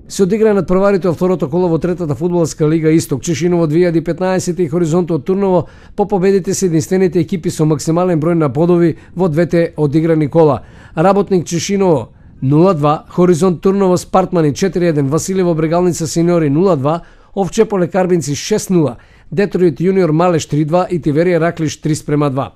Се одигра над прварите од второто коло во третата фудбалска лига Исток. Чешиново 2015 и Хоризонт од Турново по победите се единствените екипи со максимален број на бодови во двете одиграни кола. Работник Чешиново 0-2, Хоризонт Турново Спартмани 4-1, Василево Брегалница Сениори 0-2, Овчеполе Карбинци 6-0, Детройт Јуниор Малеш 3-2 и Тиверија Раклиш 3-2.